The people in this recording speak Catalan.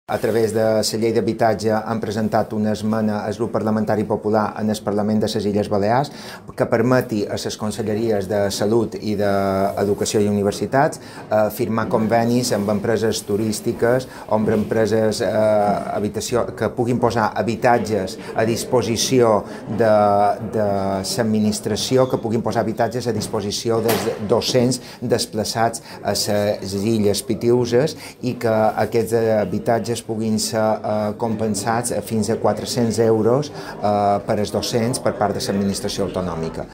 A través de la llei d'habitatge han presentat una esmena al grup parlamentari popular en el Parlament de les Illes Balears que permeti a les conselleries de Salut i d'Educació i Universitats firmar convenis amb empreses turístiques o amb empreses que puguin posar habitatges a disposició de l'administració, que puguin posar habitatges a disposició dels docents desplaçats a les Illes Pitiüses i que aquests habitatges puguin ser compensats fins a 400 euros per als docents per part de l'administració autonòmica.